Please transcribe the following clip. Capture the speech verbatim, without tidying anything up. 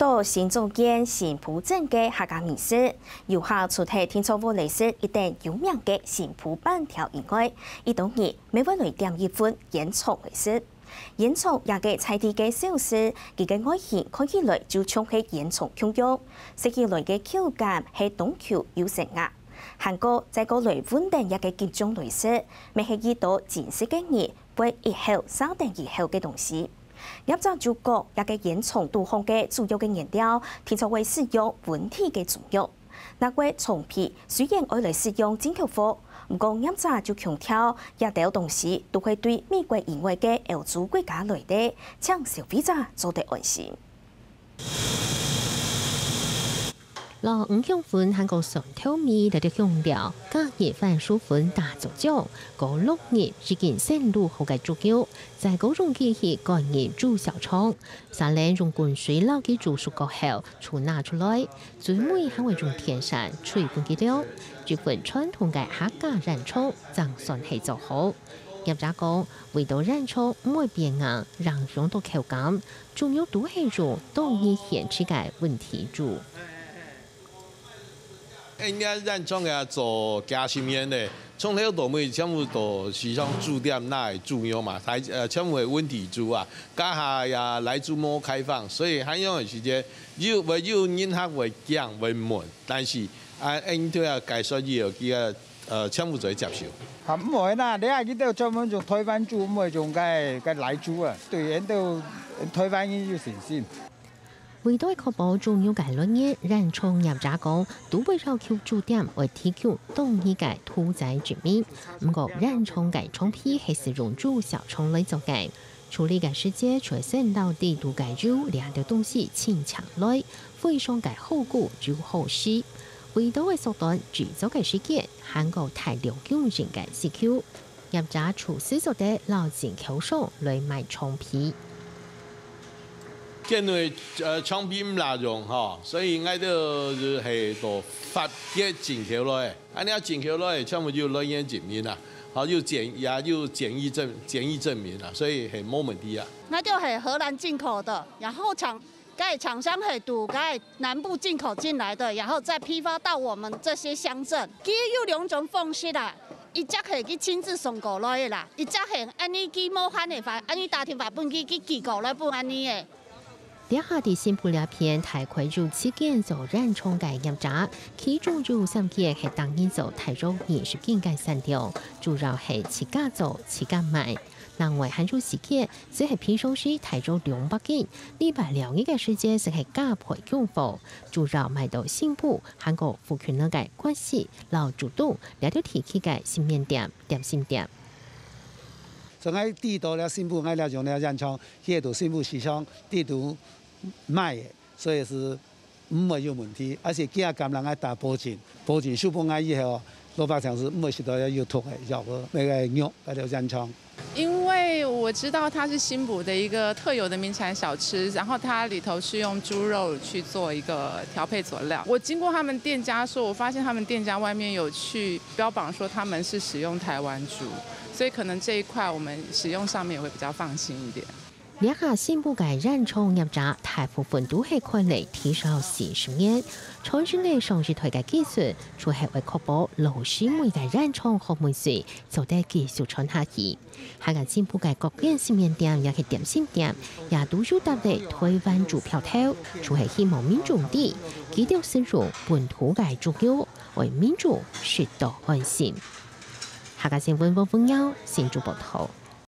到新竹縣新埔鎮个客家美食，遊客除忒定著會來食一等有名个新埔粄條以外，一到日乜會來點一份煙腸來食。煙腸這个在地个小食，佢个外形看起來就像係煙腸共樣，食起來个口感係當Q又成牙。還過再過來搵等這个桔醬來食，乜係一到真實个人 會一口續等一口个東西。業者就講，這个煙腸肚項个主要个原料，定著會使用溫體个中藥。該腸皮雖然愛來使用進口貨，毋過業者就強調，這兜東西都係對美國以外个歐洲國家來个，請消費者做得安心。 摎五香粉還過蒜頭米來到香料，加入番薯粉打做漿，過落入已經先滷好个豬肉，再過用機器灌入豬小腸，續等用滾水摎佢煮熟過後，就拿出來，最尾還會用電扇吹分佢涼，這份傳統个客家煙腸正算係做好。業者講，為著煙腸毋會變硬，影響到口感， 主要都係用當日現製个溫體豬。𫣆个煙腸啊做幾十年咧，從頭到尾全部都係像豬店那个豬肉嘛，大呃全部係溫體豬啊。這下也萊豬無開放，所以恁樣个時節，有會有人客會驚會問，但是啊，𫣆對啊解說以後，佢个呃全部做得接受。啊，毋會啦，你啊，佢兜專門用臺灣豬，毋會用該該萊豬啊。對，𫣆兜臺灣人有信心。 為著確保豬肉个來源，煙腸業者講，都會要求豬店愛提供當日个屠宰證明。毋過，煙腸个腸皮係使用豬小腸來做个。處理个時節，就愛先摎裡肚个油這兜東西清淨來，非常个好顧又好洗。為著愛縮短製作个時間，還過大量用人个需求， 業者就係做得摎進口商來買腸皮。因為呃腸皮毋罅用吼，所以𠊎兜係到法國進口來，恁樣進口來全部有來源證明啊，好有檢也有檢疫證檢疫證明啊，所以係無問題啊。那就係荷蘭進口的，然後廠 該廠商係對該南部進口進來的，然後再批發到我們這些鄉鎮。佢有兩種方式啦，一隻係佢親自送過來的啦，一隻係恁呢佢無閒个話，恁呢打電話分佢，佢寄過來分恁呢个。這下在新埔這片大概有七間做煙腸个業者，其中有三間係逐日做大約二十斤个產量，主要係自家做自家賣。另外還有四間 就係平常時大約兩百斤，禮拜六日个時節就係加倍供貨，主要賣到新埔，還過附近个關西摎竹東這兜地區个新麵店、點心店。所以𠊎知道了新埔，𠊎了用了煙腸，去到新埔市場，知道賣个，所以係 毋會有問題，而且佢也敢人愛打保證，保證收分𠊎以後，老百姓係毋會食到有毒个藥个該个肉，該條煙腸。因為我知道它是新埔的一個特有的名產小吃，然後它裡頭是用豬肉去做一個調配佐料。我經過他們店家說，我發現他們店家外面有去標榜說他們是使用台灣豬，所以可能這一塊我們使用上面也會比較放心一點。 這下新埔个煙腸業者大部分都係開了至少四十年，傳承了上一代个技術，就係愛確保老師妹个煙腸好味緒，做得繼續傳下去。還有新埔个各間新麵店也係點心店，也都有貼了台灣豬標頭，就係希望民眾知，佢兜使用本土个豬肉，為民眾食到安心。客家新聞黃鳳耀，新竹報導。